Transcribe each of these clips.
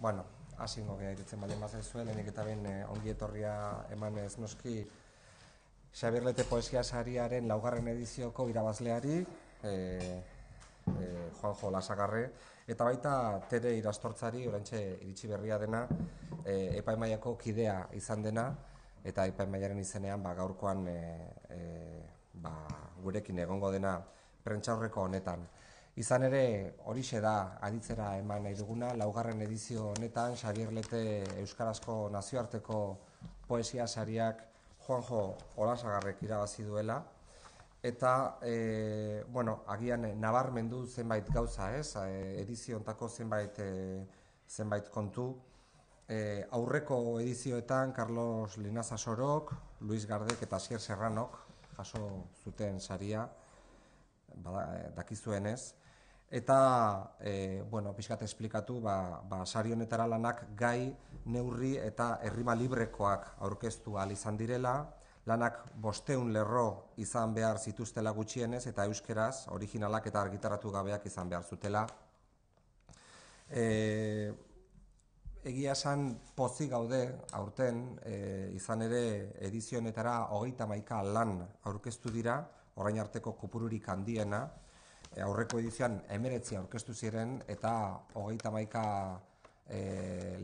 Bueno, hasingo geha iritzen baldin bazaizue, lehenik eta behin ongi etorria eman ez noski Xabier Lete Poesia Sariaren laugarren edizioko irabazleari, Juanjo Olasagarre, eta baita Tere Irastortzari, oraintxe iritsi berria dena, epaimaiako kidea izan dena, eta epaimaiaren izenean gaurkoan gurekin egongo dena prentsaurreko honetan. Izan ere, horixe da aditzera eman nahi duguna, laugarren edizio honetan Xabier Lete Euskarazko Nazioarteko Poesia Sariak Juanjo Olasagarrek irabazi duela, eta agian nabarmendu zenbait gauza, edizio hontako zenbait kontu. Aurreko edizioetan Carlos Linaza Sorok, Luis Gardek eta Asier Serranok jaso zuten saria, dakizuenez, eta pixkat esplikatu, sari honetara lanak gai, neurri eta errima librekoak aurkeztu ahal izan direla, lanak 500 lerro izan behar zituztela gutxienez, eta euskeraz, originalak eta argitaratu gabeak izan behar zutela. Egia esan pozik gaude aurten, izan ere edizionetara 31 lan aurkeztu dira, orain arteko kopururik handiena, aurreko edizioan 19 aurkeztu ziren, eta 31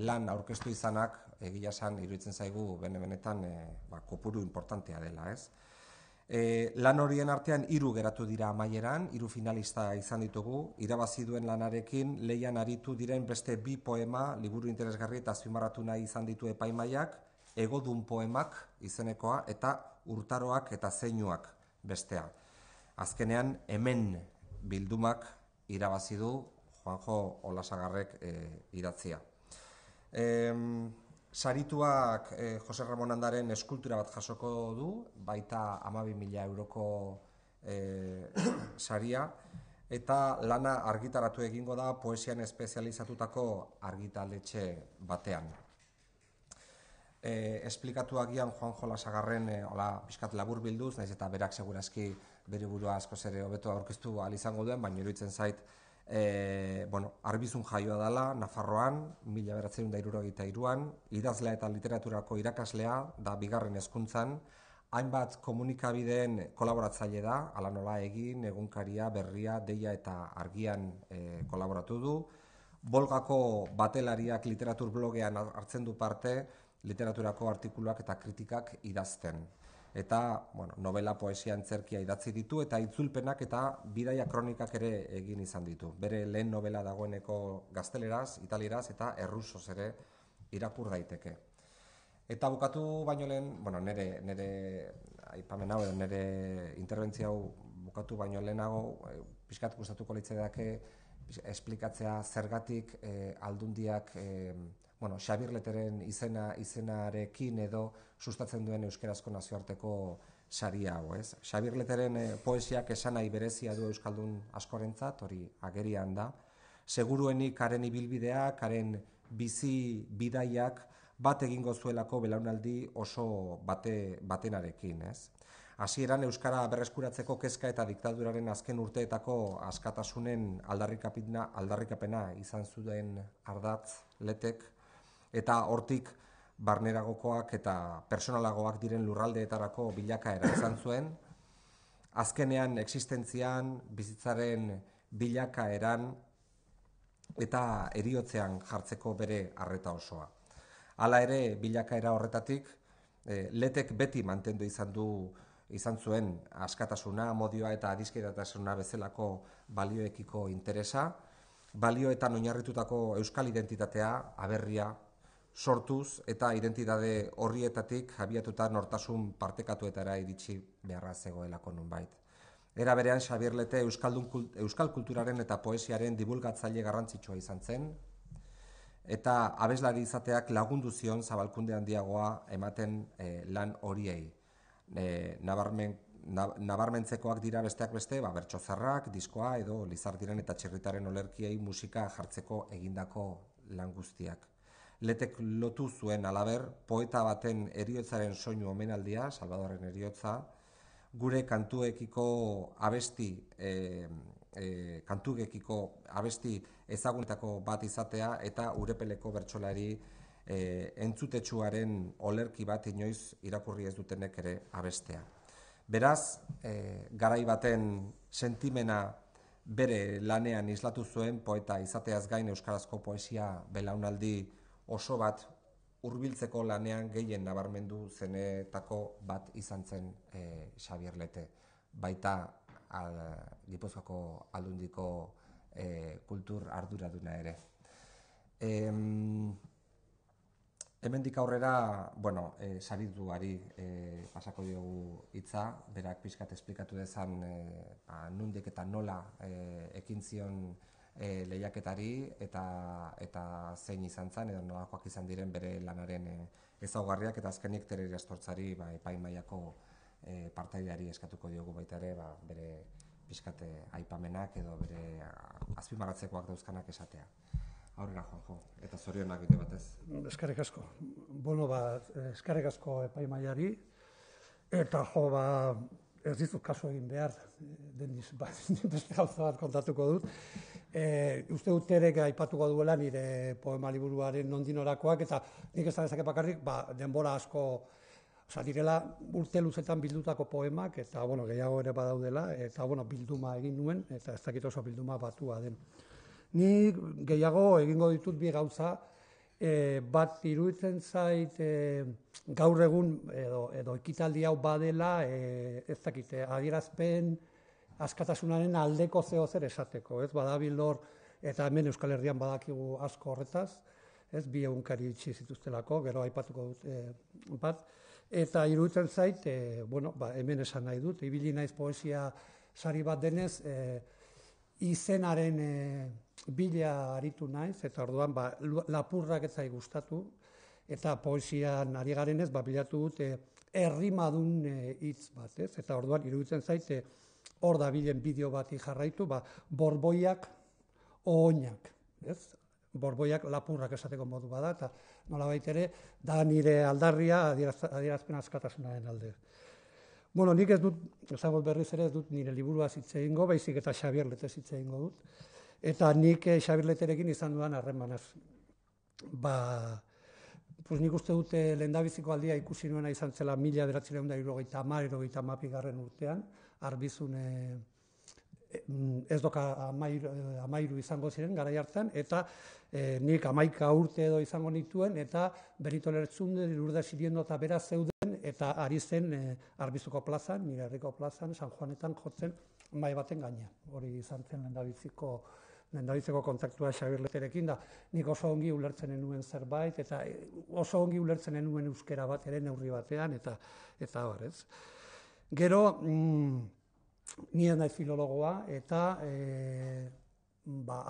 lan aurkeztu izanak, egia esan iruditzen zaigu benetan kopuru importantea dela, ez? Lan horien artean 3 geratu dira amaieran, 3 finalista izan ditugu, irabazi duen lanarekin lehian aritu diren beste 2 poema, liburu interesgarri eta azpimarratu nahi izan ditu epaimaiak, Egodun poemak izenekoa eta Urtaroak eta Zeinuak bestea. Azkenean hemen bildumak irabazi du Juanjo Olasagarrek idatzia. Sarituak Jose Ramon Andaren eskultura bat jasoko du, baita 12.000 euroko saria, eta lana argitaratu egingo da poesian espezializatutako argitaletxe batean. Esplikatu agian Juanjo Olasagarren pixkat labur bilduz, naiz eta berak segurazki bere burua askoz ere hobeto aurkeztu ahal izango duen, baina iruditzen zait Arbizun jaioa dela, Nafarroan, 1973an, idazlea eta literaturako irakaslea da 2. hezkuntzan, hainbat komunikabideen kolaboratzaile da, hala nola Egin, Egunkaria, Berria, Deia eta Argian kolaboratu du. Bolgako Batelariak literatur blogean hartzen du parte, literaturako artikuluak eta kritikak idazten. Eta novela, poesia, antzerkia idatzi ditu, eta itzulpenak eta bidaia kronikak ere egin izan ditu. Bere lehen novela dagoeneko gazteleraz, italieraz eta errusoz ere irakur daiteke. Eta bukatu baino lehen, nire aipamen hau, nire interbentzia hau bukatu baino lehenago, pixkat gustatuko litzaidake esplikatzea zergatik aldundiak Xabier Leteren izenarekin edo sustatzen duen euskarazko nazioarteko saria hau, ez? Xabier Leteren poesiak esanahi berezia du euskaldun askorentzat, hori agerian da. Seguruenik haren ibilbideak, haren bizi bidaiak bat egingo zuelako belaunaldi oso batenarekin, ez? Hasieran euskara berreskuratzeko kezka eta diktaduraren azken urteetako askatasunen aldarrikapena izan zuen ardatz Letek, eta hortik barneragokoak eta personalagoak diren lurraldeetarako bilakaera izan zuen, azkenean existentzian, bizitzaren bilakaeran eta heriotzean jartzeko bere arreta osoa. Hala ere, bilakaera horretatik, Letek beti mantendu izan zuen askatasuna, amodioa eta adiskidetasuna bezalako balioekiko interesa, balioetan oinarritutako euskal identitatea, aberria, sortuz eta identitate horrietatik abiatuta nortasun partekatuetara iritsi beharra zegoelako nonbait. Era berean, Xabier Lete euskal kulturaren eta poesiaren dibulgatzaile garrantzitsua izan zen, eta abeslari izateak lagundu zion zabalkunde handiagoa ematen lan horiei. Nabarmentzekoak dira besteak beste, bertsozarrak, diskoa edo Lizardiren eta Txirritaren olerkiei musika jartzeko egindako lan guztiak. Letek lotu zuen halaber, poeta baten heriotzaren soinu omenaldia, Salvadorren heriotza, gure kantuekiko abesti kantugekiko abesti ezagunetako bat izatea eta Urepeleko bertsolari entzutetsuaren olerki bat inoiz irakurri ez dutenek ere abestea. Beraz, garai baten sentimena bere lanean islatu zuen poeta izateaz gain euskarazko poesia belaunaldi oso bat hurbiltzeko lanean gehien nabarmendu zenetako bat izan zen Xabier Lete. Baita Gipuzkoako Aldundiko kultur arduraduna ere. Hemendik aurrera, sarituari pasako diogu hitza, berak pixkat esplikatu dezan nondik eta nola ekin zion lehiaketari eta zein izan zen, edo nolakoak izan diren bere lanaren ezaugarriak, eta azkenik Tereri Astortzari epaimahaiako partaideari eskatuko diogu baita ere bere pixkat aipamenak edo bere azpimarratzekoak dauzkanak esatea. Aurrera, Juanjo, eta zorionak bide batez. Eskerrik asko. Eskerrik asko epaimahaiari, eta ez dizut kasu egin behar, beste gauza bat kontatuko dut. Uste dut Terek aipatuko duela nire poema liburuaren nondinorakoak, eta nik ez da dezake bakarrik, denbora asko, direla urte luzetan bildutako poemak, eta gehiago ere badaudela, eta bilduma egin nuen, eta ez dakit oso bilduma batua den. Ni gehiago egingo ditut bi gauza, bat iruditzen zait gaur egun edo ekitaldi hau badela, ez dakit, adierazpen askatasunaren aldeko zeo zer esateko, ez badabil hor, eta hemen Euskal Herrian badakigu asko horretaz, ez bi egunkari itxi zituztelako, gero aipatuko dut bat, eta iruditzen zait, hemen esan nahi dut, ibili naiz poesia sari bat denez, izenaren bila aritu naiz, eta orduan lapurrak ez zait gustatu, eta poesian ari garenez bilatu dut errimadun hitz bat, ez? Eta orduan iruditzen zait hor da bilen bideo bati jarraitu, borboiak oinak, ez? Borboiak lapurrak esateko modu bada, eta nolabait ere da nire aldarria adierazpen askatasunaren alde. Nik ez dut, ezagot berriz ere ez dut nire liburuaz hitz egingo, baizik eta Xabier Letez hitz egingo dut. Eta nik Xabier Leterekin izan dudan harremanaz. Nik uste dut lehendabiziko aldia ikusi nuena izan zela 1970-1972 urtean, Arbizun ez doka 13 izango ziren garai hartan, eta nik 11 urte edo izango nituen, eta Benito Lertzunde, Lourdes Siriendo eta bera zeuden, eta ari zen Arbizuko plazan, nire herriko plazan, San Juanetan jotzen mahai baten gainean. Hori izan zen lehendabiziko kontaktua Xabier Leterekin, da nik oso ongi ulertzen nuen zerbait, eta oso ongi ulertzen nuen euskera bat ere neurri batean, eta bar, ez. Gero, nire naiz filologoa, eta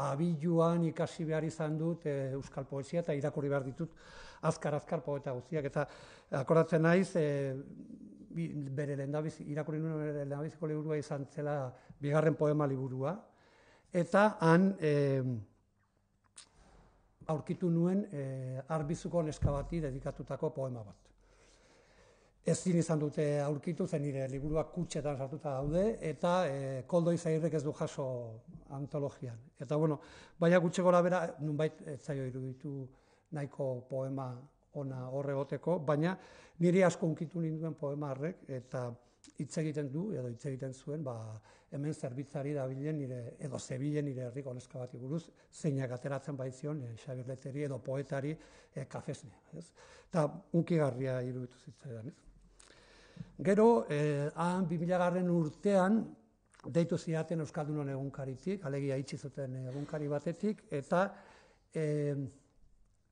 abiluan ikasi behar izan dut euskal poesia, eta irakurri behar ditut azkar poeta guztiak, eta akordatzen naiz, irakurri nuen bere lehendabiziko liburua izan zela bigarren poema liburua, eta han aurkitu nuen Arbizuko neska bati dedikatutako poema bat. Ezin izan dute aurkitu, zen nire liburuak kutxetan sartuta daude, eta Koldo Izagirrek ez du jaso antologian. Eta baina gutxi gora bera, nunbait ez zaio iruditu nahiko poema ona horre goteko, baina niri asko unkitu ninduen poema horrek, eta hitz egiten du, edo hitz egiten zuen, hemen zerbitzari dabilen edo zebilen nire herriko neska bati buruz, zeinak ateratzen baizion Xabier Leteri edo poetari kafesne. Eta unkigarria iruditu zitzaidan, ez? Gero, han 2000 urtean, deitu zidaten Euskaldunon egunkaritik, alegia itxi zuten egunkari batetik, eta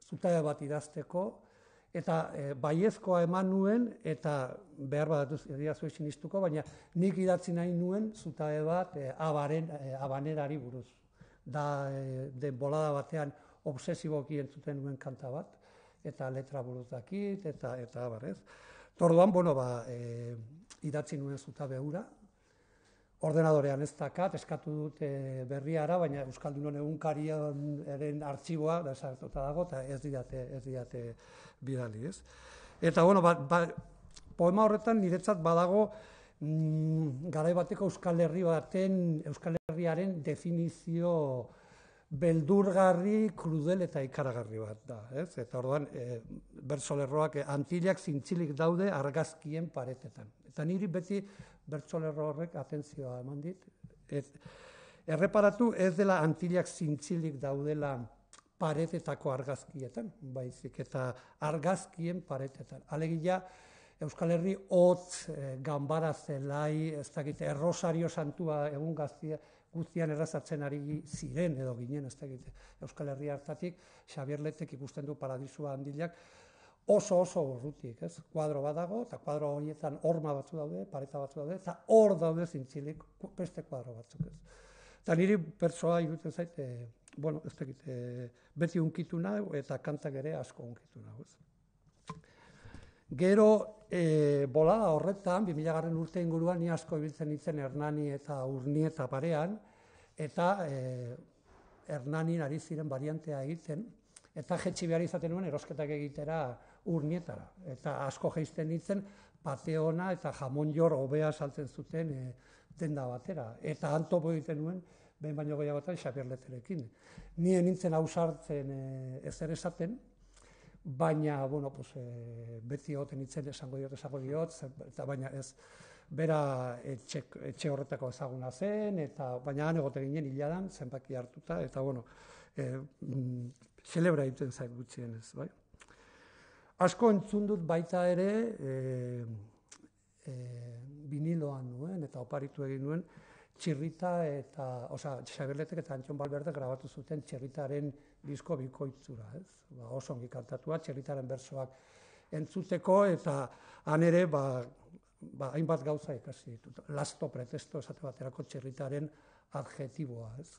zutabe bat idazteko, eta baiezkoa eman nuen, eta behar bat ediazue sinistuko, baina nik idatzi nahi nuen zutabe bat abanerari buruz. Da bolada batean obsesiboki entzuten nuen kanta bat, eta letra buruz dakit, eta abarrez. Orduan, idatzi nuen zutabe hura, ordenadorean ez dakat, eskatu dut berriara, baina Euskaldunon egunkariaren artxiboa desagertuta dago, eta ez didate bidali, ez? Eta, poema horretan niretzat badago garai bateko Euskal Herri baten, Euskal Herriaren definizio beldurgarri, krudel eta ikaragarri bat da. Ez? Eta orduan, bertsolerroak Antillak zintzilik daude argazkien paretetan. Eta niri beti bertsolerro horrek atentzioa eman dit. Erreparatu ez dela Antillak zintzilik daudela paretetako argazkietan, baizik eta argazkien paretetan. Alegia, Euskal Herri hotz, ganbara zelai, ez dakit, Errosario Santua egun guztian errazatzen ari ziren edo ginen, ez dakit, Euskal Herri hartatik, Xabier Letek ikusten du Paradisua Antillak, oso urrutik, ez? Kuadro bat dago, eta kuadro horietan horma batzu daude, pareta batzu daude, eta hor daude zintzilik beste kuadro batzuk, ez? Eta niri pertsoa iruditzen zait, bueno, ez dakit, beti unkitu nahi, eta kantak ere asko unkitu nahi, ez? Gero, bolada horretan, 2000 urte inguruan, ni asko ibiltzen nintzen Hernani eta Urnieta parean, eta Hernanin ari ziren variantea egiten, eta jetxi behar izaten nuen erosketak egitera Urnietara. Eta asko jeizten nintzen, pateona eta jamon jor hobea saltzen zuten denda batera. Eta antopo egiten nuen, behin baino gehiagotan Xabier Leterekin. Nien nintzen ausartzen ezer esaten, baina, bueno, pues, beti egoten nintzen esango diot, eta baina ez, bera etxe horretako ezaguna zen, eta baina han egoten ginen hiladan, zenbaki hartuta, eta, bueno, celebra egiten zait gutxienez, bai. Asko entzun dut baita ere, viniloan nuen, eta oparitu egin nuen, Txirrita eta, Xabier Letek eta Antxon Balberde grabatu zuten Txirritaren disko bikoitzura, ez? Oso ongi kantatua, Txirritaren bersoak entzuteko, eta han ere, hainbat gauza ikasi ditut. Lasto, pretesto, esate baterako Txirritaren adjetiboa, ez?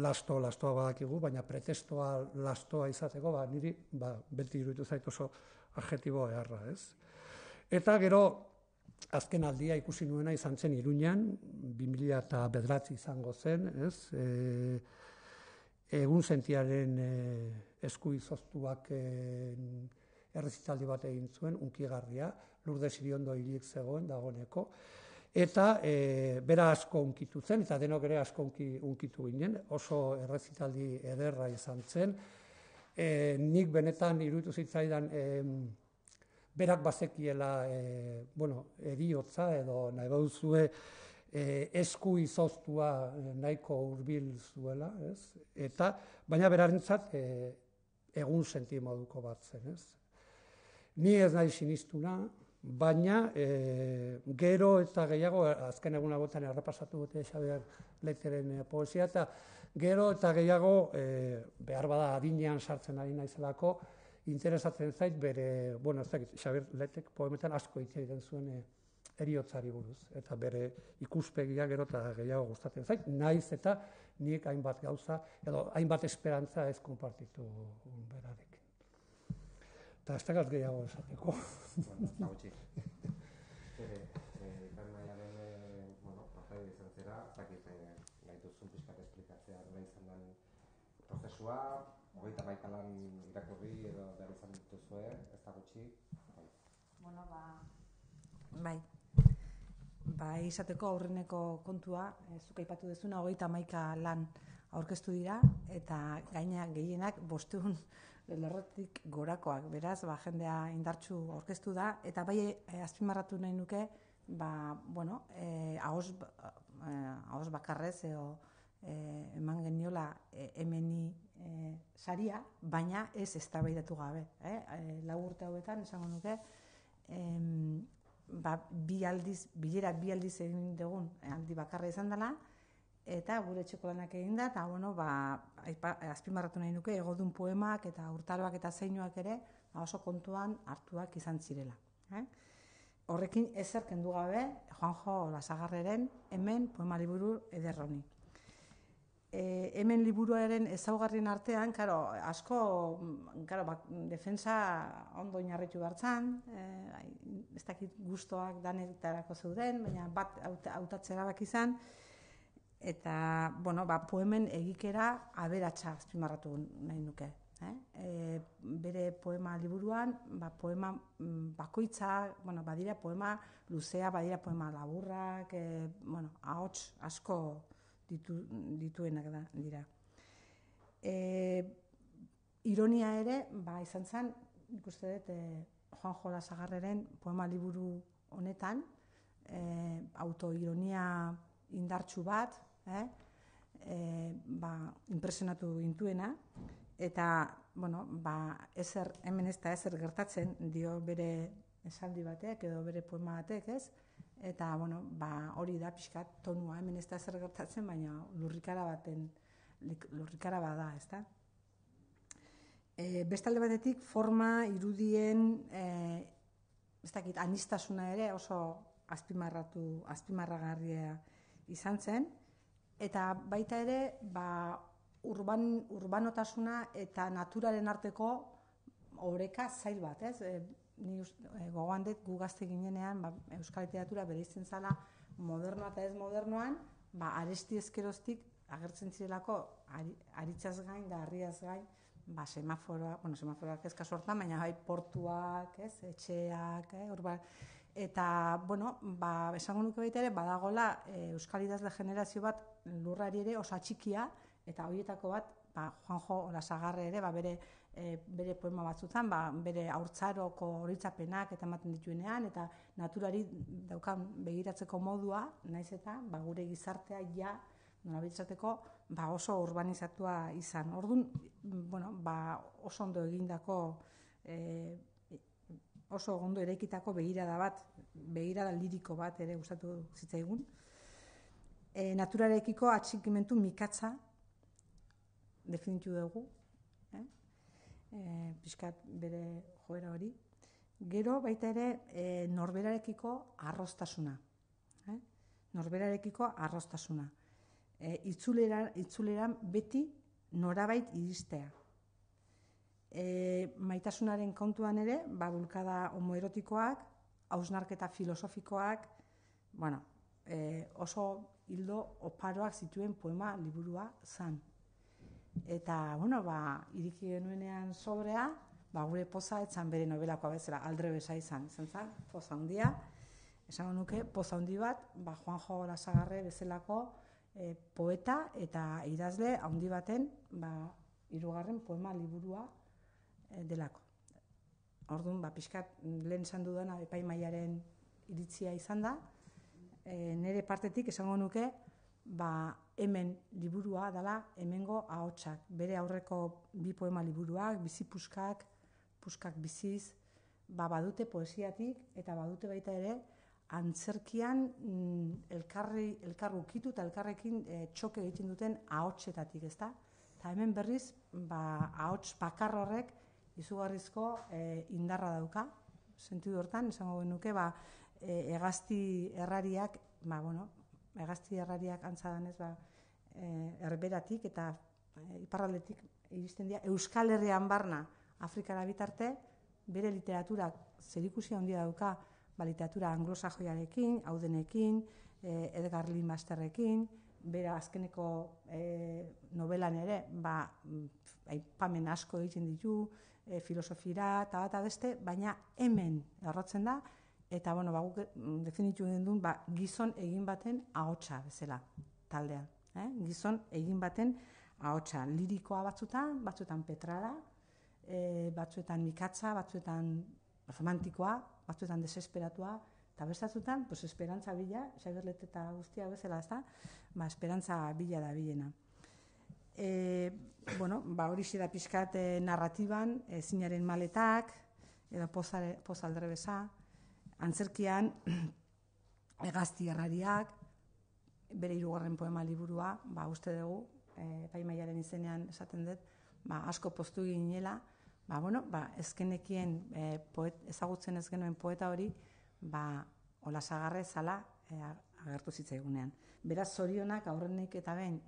Lastoa badakigu, baina pretestoa lastoa izateko, niri beti iruditu zait oso adjetibo eharra, ez? Eta gero, azken aldia ikusi nuena izan zen Iruñan, 2009 izango zen, ez? Egun sentiaren esku izoztuak errezitaldi bat egin zuen, unkigarria, Lourdes Iriondo hilik zegoen dagoeneko, eta bera asko unkitu zen, eta denok ere asko unkitu ginen, oso errezitaldi ederra izan zen. Nik benetan iruditu zitzaidan berak bazekiela, eriotza edo nahi baduzue esku izoztua nahiko hurbil zuela, ez? Eta, baina berarentzat egun sentimoduko bat zen, ez? Ni ez nahi sinistuna, baina gero eta gehiago, azken egun agotan errepasatu dute Xabier Leteren poesia, eta gero eta gehiago, behar bada adinean sartzen ari naizelako, interesatzen zait bere, ez dakit, Xabier Letek poemetan asko hitz egiten zuen eriotzari buruz, eta bere ikuspegia gero eta gehiago gustatzen zait, naiz eta nik hainbat gauza, edo hainbat esperantza ez konpartitu berarekin. Eta ez dakit gehiago esateko. Eta gutxi. Iparmaiaren, partai izan zera, ez dakit nahi duzun pixkat esplikatzea nola izan den prozesua, 31 lan irakurri edo behar izan dituzue, ez da gutxi? Bai, izateko aurreneko kontua, zuk aipatu duzuna, 31 lan aurkeztu dira, eta gaina gehienak 500 lerrotik gorakoak, beraz, jendea indartsu aurkeztu da, eta bai azpimarratu nahi nuke, ahoz bakarrez, eman geniola hemeni saria, baina ez eztabaidatu gabe. 4 urte hauetan, esango nuke, bilera bi aldiz egin dugun aldi bakarra izan dela, eta gure etxeko lanak egin da, eta azpimarratu nahi nuke, egodun poemak eta urtaroak eta zeinuak ere oso kontuan hartuak izan zirela. Horrekin ezer kendu gabe, Juanjo Lasagarreren hemen poema liburu ederroni. Hemen liburuaren ezaugarrien artean, asko defensa ondo inarritu hartzan, ez dakit gustoak danetarako zeuden, baina bat hautatze erabak izan, eta poemen egikera aberatsa azpimarratu nahi nuke. Bere poema liburuan, poema bakoitza, badira poema luzea, badira poema laburrak, ahots asko dituenak dira. Ironia ere, izan zen, nik uste dut, Juanjo Olasagarreren poema liburu honetan, autoironia indartsu bat, impresionatu gintuena, eta, hemen ez da ezer gertatzen, dio bere esaldi batek edo bere poema batek, ez? Eta, hori da pixkat tonua, hemen ez da ezer gertatzen, baina lurrikara bada, ez da? Bestalde batetik, forma, irudien, anistasuna ere oso azpimarragarria izan zen, eta baita ere, urbanotasuna eta naturaren arteko oreka zail bat, ez? Ni gogoan dut gu gazte ginenean, euskal literatura bereizten zala modernoa eta ez modernoan, aresti ezkeroztik agertzen zirelako aritzaz gain da harriaz gain, semaforoak ez kasu hortan, baina portuak, etxeak, eta, esango nuke baita ere, badagola euskal idazle generazio bat lurrari ere oso txikia, eta horietako bat, Juanjo Olasagarre ere, bere poema batzutan, bere haurtzaroko horitzapenak eta ematen dituenean, eta naturari daukan begiratzeko modua, naiz eta gure gizartea nolabitzateko oso urbanizatua izan. Orduan, oso ondo egindako, oso ondo eraikitako begirada liriko bat ere gustatu zitzaigun. Naturarekiko atxikimentu mikatza definitu dugu, pixkat bere joera hori. Gero baita ere norberarekiko arrostasuna. Norberarekiko arrostasuna. Itzuleran beti norabait iristea. Maitasunaren kontuan ere, bulkada homoerotikoak, hausnarketa filosofikoak, oso hildo oparoak zituen poema liburua zan. Eta, iriki genuenean sobrea, gure poza etzan bere nobelakoa bezala, aldre besa izan zen, poza handia. Esango nuke, poza handi bat, Juanjo Olasagarre bezalako poeta eta idazle handi baten, hirugarren poema liburua delako. Orduan, pixkat lehen esan dudana epaimahaiaren iritzia izan da. Nire partetik esango nuke, hemen liburua dela hemengo ahotsak. Bere aurreko bi poema liburuak, bizi puskak biziz, badute poesiatik eta badute baita ere antzerkian elkar ukitu eta elkarrekin txoke egiten duten ahotsetatik, ezta? Eta hemen berriz, ahots bakar horrek izugarrizko indarra dauka. Sentidu hortan, esango genuke, hegazti errariak, hegazti errariak antzadanez, erberatik eta iparraldetik iristen dira. Euskal Herrian barna Afrikara bitarte, bere literaturak zerikusia handia dauka, literatura anglosajoiarekin, Audenekin, Edgar Lee Masterrekin, bere azkeneko novelan ere, aipamen asko egiten ditu, filosofira eta beste, baina hemen errotzen da, eta guk definitu duen gizon egin baten ahotsa bezala taldean. Gizon egin baten ahotsa, lirikoa batzuetan petrala, batzuetan mikatza, batzuetan romantikoa, batzuetan desesperatua, eta bestatzutan, esperantza bila, Xaberlet eta guztia bezala, ez da, esperantza bila da bilena. Hori da pixkat narratiban, zinaren maletak, edo poz aldrebesa, antzerkian, hegazti errariak, bere hirugarren poema liburua, uste dugu, epaimahaiaren izenean esaten dut, asko poztu ginela, ezkenekien ezagutzen ez genuen poeta hori, Olasagarre zala agertu zitzaigunean. Beraz, zorionak aurrenik eta behin,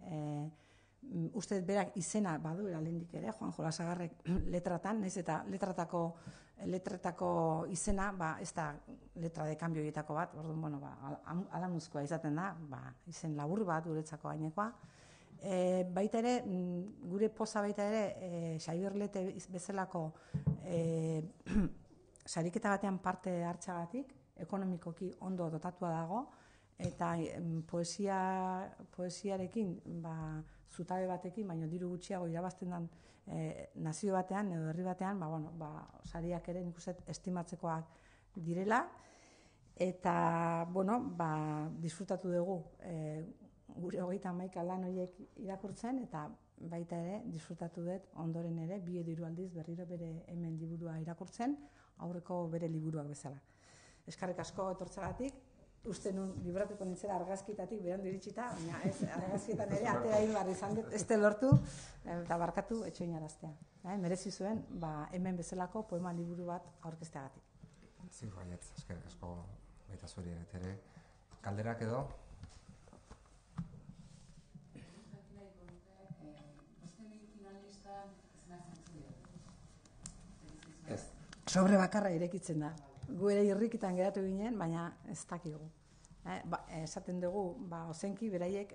uste berak izena baduela lehendik ere, Juanjo Olasagarrek letratan, nahiz eta letretako izena, ez da letra de cambio horietako bat, orduan, alamuzkoa izaten da, izen labur bat guretzako gainekoa. Baita ere, gure poza baita ere, Xaberlet bezalako sariketa batean parte hartzagatik, ekonomikoki ondo dotatua dago, eta poesiarekin, zutabe batekin, baina diru gutxiago irabazten den nazio batean edo herri batean, sariak ere nik uste estimatzekoak direla, eta, disfrutatu dugu gure 31 lan horiek irakurtzen, eta baita ere, disfrutatu dut ondoren ere, 2 edo 3 aldiz berriro bere hemen liburua irakurtzen, aurreko bere liburuak bezala. Eskerrik asko etortzeagatik, uste nun libratuko nintzera argazkietatik berandu iritsita, baina ez, argazkietan ere atera behar izan dut, ez lortu, eta barkatu etxoinaraztea. Merezi zuen, hemen bezalako poema liburu bat aurkezteagatik. Ziur baietz, eskerrik asko baita zuri ere. Kalderak edo? Sobre bakarra irekitzen da. Gu ere irrikitan geratu ginen, baina ez dakigu. Esaten dugu, ozenki beraiek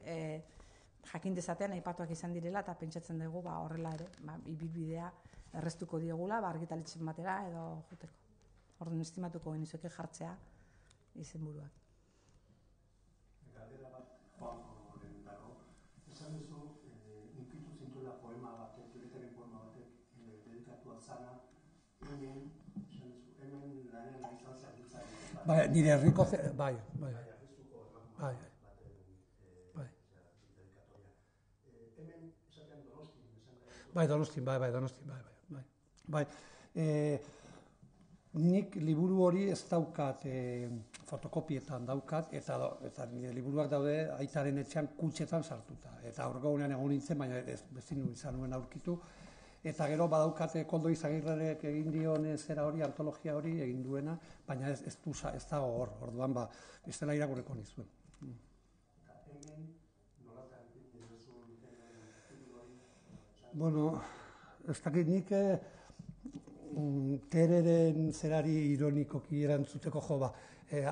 jakin dezatean aipatuak izan direla, eta pentsatzen dugu horrela ere, ibilbidea erreztuko diegula, argitalitzen batera edo juteko. Orduan estimatuko genizueke jartzea izenburuak. Galdera bat, Juanjoren dago. Esan duzu, inkitu zintuela poema batek, Julietaren poema batek, dedikatua zana, hemen lanean izan zerbitzari. Nire herriko, bai. Hemen esatean Donostin, Donostin. Nik liburu hori ez daukat, fotokopietan daukat, eta nire liburuak daude aitaren etxean kutxetan sartuta. Eta aurgogunean egon nintzen, baina ezin izan nuen aurkitu. Eta gero badaukate Koldo Izagirrerek egin dion zera hori, antologia hori egin duena, baina ez dago hor, orduan ez dela irakurriko nizuen. Hemen nolatan duzun hori? Bueno, ez dakit nik Tereren zerari ironikoki erantzuteko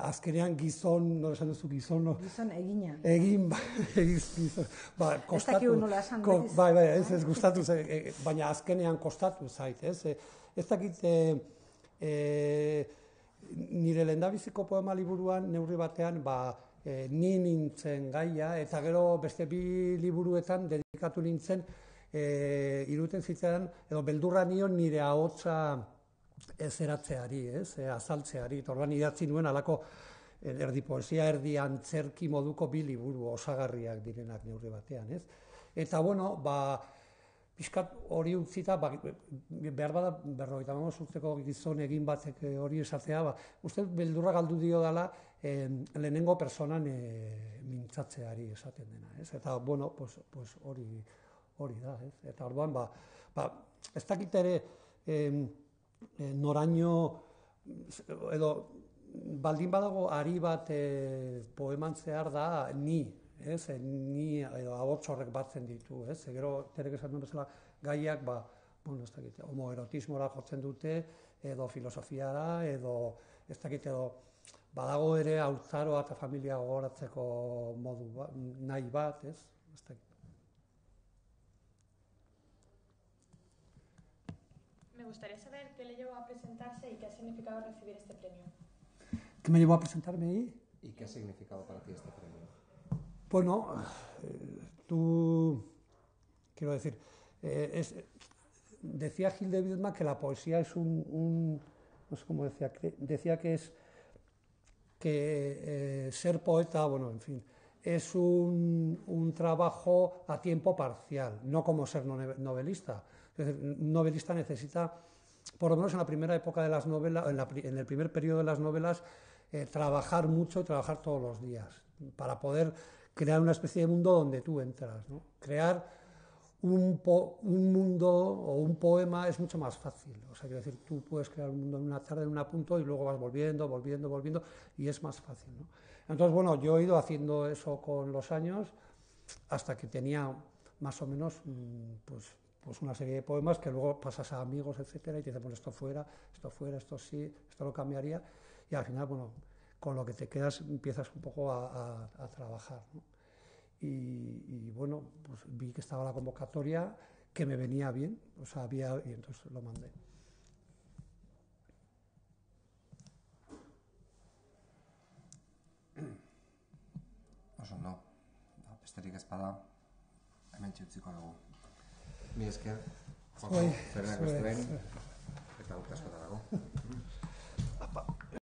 azkenean gizon, nola esan duzu gizon? Gizon egina. Egin, gizon. Ez dakigu nola esan. Ez gustatu, baina azkenean kostatu zait, ez? Ez dakit nire lehendabiziko poema liburuan neurri batean, ni nintzen gaia, eta gero beste 2 liburuetan dedikatu nintzen iruten zitzaidan, edo beldurra nion nire ahotsa eratzeari, azaltzeari. Orduan idatzi nuen alako erdi poesia, erdi antzerki moduko 2 liburu osagarriak direnak neurri batean, ez? Eta, pixkat hori utzita, behar bada 55 urteko gizon egin batek hori esatea, uste beldurra galdu dio dela lehenengo personan mintzatzeari esaten dena, ez? Eta, hori da, ez? Eta orduan, ez dakit ere noraino, edo baldin badago ari bat poeman zehar da ni, ez? Ni edo ahots horrek batzen ditu, ez? Gero, terek esan duen bezala, gaiak, ez dakit, homoerotismora jotzen dute, edo filosofiara, edo, ez dakit, edo, badago ere haurtzaroa eta familia gogoratzeko modu nahi bat, ez? Ez dakit. Me gustaría saber qué le llevó a presentarse y qué ha significado recibir este premio. ¿Qué me llevó a presentarme ahí? ¿Y qué ha significado para ti este premio? Bueno, quiero decir, decía Gil de Biedma que la poesía es no sé cómo decía que es que ser poeta, en fin, es un trabajo a tiempo parcial, no como ser novelista. Es decir, un novelista necesita, por lo menos en la primera época de las novelas, en el primer periodo de las novelas, trabajar mucho y trabajar todos los días, para poder crear una especie de mundo donde tú entras, ¿no? Crear un mundo o un poema es mucho más fácil. O sea, quiero decir, tú puedes crear un mundo en una tarde, en un punto, y luego vas volviendo, y es más fácil, ¿no? Entonces, yo he ido haciendo eso con los años hasta que tenía más o menos, pues una serie de poemas que luego pasas a amigos, etcétera, y te dicen, esto fuera, esto sí, esto lo cambiaría, y al final, con lo que te quedas empiezas un poco a trabajar, ¿no? Y pues vi que estaba la convocatoria, que me venía bien, y entonces lo mandé. besterik ez bada, hemen txutziko dugu. Mi esker, Zuei, zerenak beste behin, eta urte asko da.